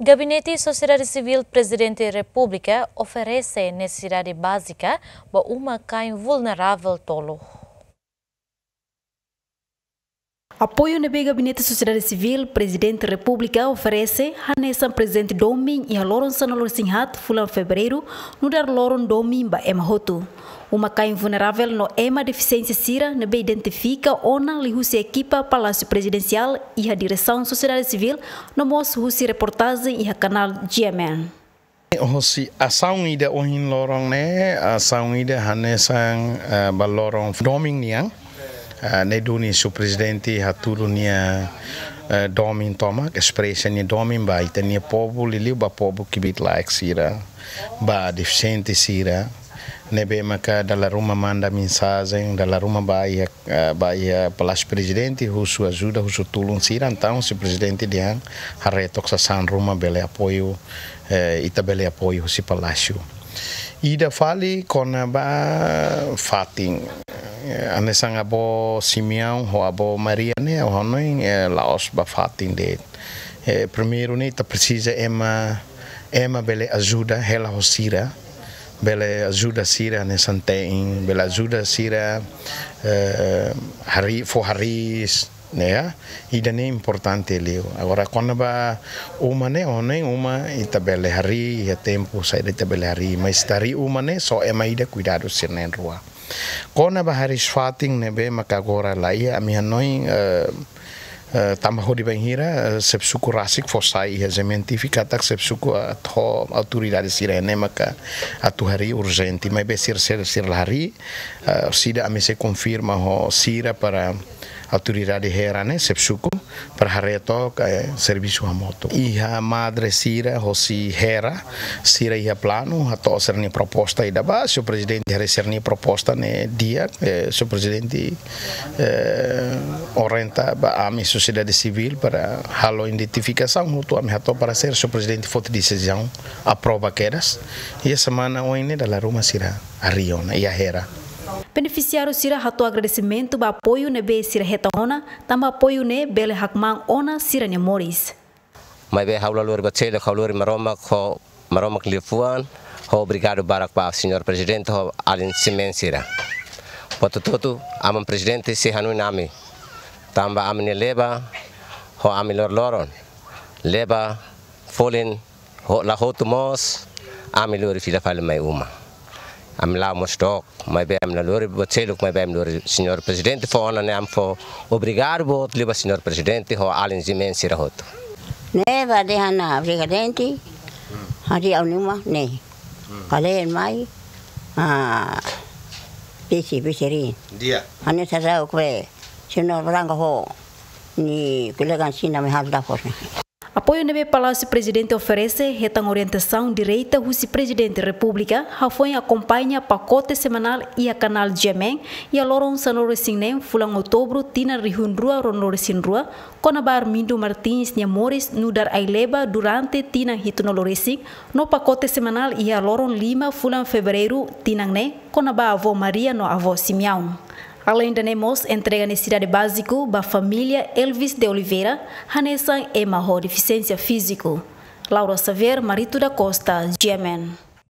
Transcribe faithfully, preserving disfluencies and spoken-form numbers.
Gabinete Sosiedade Sivíl Prezidente Repúblika oferese nesesidade bázika ba uma-kain vulneravel tolu. Apoiu ne'ebé Gabinete Sosiedade Sivíl Prezidente Repúblika oferese hanesan prezente domin iha loron sanulu-resin-haat fulan Fevereiru, nu'udar loron domin ba ema hotu. Uma-kain vulneravel no ema defisiénsia sira ne'ebé identifika ona liuhusi ekipa Palásiu Prezidensiál iha Diresaun Sosiedade Sivíl, no mós husi reportajen iha kanál G M N. Hosi asaun ida ohin loron ne'e, asaun ida hanesan, eh, ba loron domin nian. Eh, ne'e duni Señór Prezidente hatudu nia, eh, domin tomak, espresa nia domin ba ita-nia povu, liuliu ba povu kbiit-laek sira, ba defisiente sira. Ne'ebé maka dala ruma manda mensajen, dala ruma ba iha, eh, ba iha Palásiu Prezidente, husu ajuda, husu tulun sira, entaun Señór Prezidente dehan haree took sasán ruma bele apoiu, eh, ita bele apoiu husi Palásiu. Ida fali kona-ba fatin. Eh, hanesan avó Simeão ho avó Maria ne'e, ha'u hanoin, eh, la'ós ba fatin de'it. Eh, primeiru ne'e ita presiza ema, ema bele ajuda hela ho sira, bele ajuda sira hanesan te'in, bele ajuda sira, eh, hariis, fó hariis, ne'e, ida-ne'e importante liu. Agora, kona-ba uma ne'e, ha'u hanoin uma, ita bele harii, iha tempu saida ita bele harii, mas ita harii uma ne'e, só ema ida kuidadu sira na'in-rua. Kona-ba hariis fatin ne'ebé maka agora laiha, ami hanoin, eh, eh, tanba hodi bainhira, eh, xefe suku rasik fó sai iha G M N T V katak xefe suku, eh, ho autoridade sira ne'e maka atu harii urjente, maibé sira, sira, sira la harii, eh, orsida ami sei konfirma ho sira para autoridade Hera ne'e, xefe suku, para haree took, eh, servisu hamutuk. Iha madre sira hosi Hera, sira iha planu hato'o sira-nia proposta ida ba, Señór Prezidente haree sira-nia proposta ne'e di'ak, eh, Señór Prezidente, eh, orienta ba ami sosiedade sivíl para halo identifikasaun hotu ami hato'o para sira, Señór Prezidente foti desizaun aprova kedas. Iha semana oin ne'e dala ruma sira harii ona iha Hera. Benefisiáriu sira hato'o agradesimentu ba apoiu ne'ebé sira hetan ona, tanba apoiu ne'e bele hakmaan ona sira-nia moris. Maibé ha'u la lori buat seluk, ha'u lori Maromak ho Maromak liafuan, ho obrigadu barak ba Señór Prezidente ho alin G M N sira. Buat hotu-hotu, Aman Prezidente sei hanoin ami. Tanba ami-nia leba, ho ami loroloron. Leba, folin, ho, la hotu mós, ami lori fila fali mai uma. Ami la'o mós dook, maibé ami la lori buat seluk, maibé ami lori Señór Prezidente fó ona ne'e, ami fó obrigadu boot liu ba Señór Prezidente ho alin G M N sira hotu. Ne'e ba dehan ona Prezidente, harii ha'u-nia uma ne'e. Kalen mai, ah, bisi, bisi rin. Di'ak. Hanesan sasán kue, Señór Branco ho nia kolega sira mai halo dafur ne'e. Apoiu ne'ebé Palásiu Prezidente oferese hetan orientasaun direta husi Prezidente Repúblika, hafoin akompaña pakote semanál iha kanál G M N, iha loron sanulu-resin-neen fulan Outubru tinan rihun rua ruanulu-resin-rua, kona-ba Armindo Martins nia moris nu'udar ai-leba durante tinan hitunulu-resin, no pakote semanál iha loron lima fulan Fevereiru tinan ne'e, kona-ba avó Maria no avó Simeão. Aleinde ne'e mós entrega nesesidade báziku ba família Elvis de Oliveira, hanesan ema ho defisiénsia fíziku. Laura Xavier, Marito da Costa, G M N.